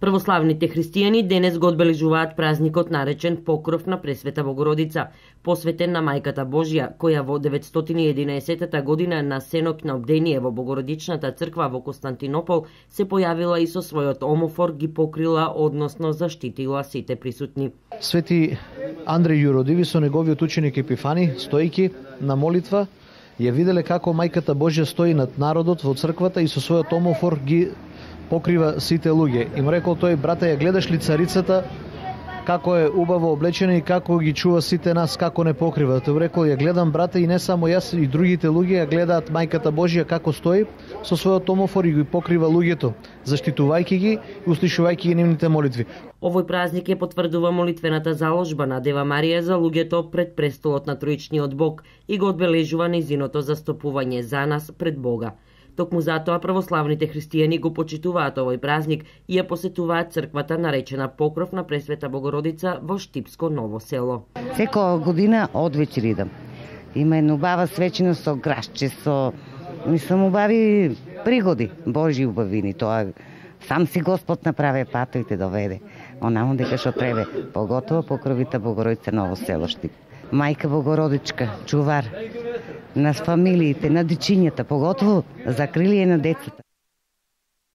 Православните христијани денес го одбележуваат празникот наречен Покров на Пресвета Богородица, посветен на Мајката Божја, која во 911 година на сенок на обдение во Богородичната црква во Константинопол се појавила и со својот омофор ги покрила, односно заштитила сите присутни. Свети Андреј Јуродиви со неговиот ученик Епифани, стојки на молитва, ја виделе како Мајката Божја стои над народот во црквата и со својот омофор ги покрива сите луѓе. Им рекол тој: брате, ја гледаш ли царицата како е убаво облечена и како ги чува сите нас, како не покрива? Тој рекол: ја гледам, брате, и не само јас, и другите луѓе ја гледаат Мајката Божја како стои со својот омофор и ги покрива луѓето, заштитувајќи ги и услишувајќи ги нивните молитви. Овој празник ја потврдува молитвената заложба на Дева Марија за луѓето пред престолот на Троичниот Бог и го одбележува нејзиното застапување за нас пред Бога. Токму затоа православните христијани го почитуваат овој празник и ја посетуваат црквата наречена Покров на Пресвета Богородица во Штипско Ново село. Секоја година одвечер идам. Има една убава свечина со грашче, со убави пригоди, Божји убавини. Тоа сам си Господ направи пато и те доведе. Онамо дека што требе, поготово Покровита Богородица Ново село Штип. Мајка Богородичка, чувар на фамилиите, на дечињата, поготово за крилие на децата.